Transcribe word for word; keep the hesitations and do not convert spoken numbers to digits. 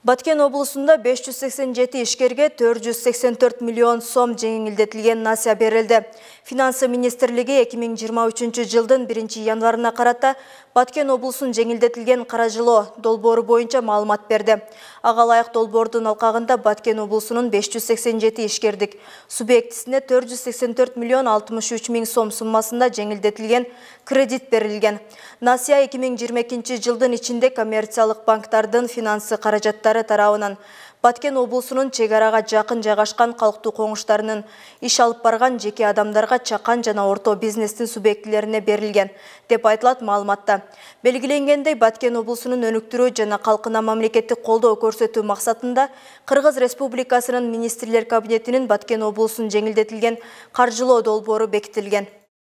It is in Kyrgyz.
Баткен облусунда беш жүз сексен жети ишкерге төрт жүз сексен төрт миллион сом жеңилдетилген насыя берилди. Финансы министрлиги эки миң жыйырма үчүнчү жылдын биринчи январына карата Баткен облусун жеңилдетилген каражылоо долбоору боюнча маалымат берди. Ага ылайык долбоордун алкагында Баткен облусунун беш жүз сексен жети ишкердик субъектисине төрт жүз сексен төрт миллион алтымыш үч миң сом суммасында жеңилдетилген кредит берилген. Насыя эки миң жыйырма экинчи жылдын ичинде коммерциялык банктардын финансы каражаттары тарабынан Баткен облусунун чек арага жакын жайгашкан калктуу коңуштарынын иш алып барган жеке адамдарга чакан жана орто бизнестин субъектилерине берилген деп айтылат маалыматта. Белгиленгендей, Баткен облусунун өнүктүрүү жана калкына мамлекеттик колдоо көрсөтүү максатында Кыргыз Республикасынын министрлер кабинетинин Баткен облусун жеңилдетилген каржылоо долбоору бекитилген.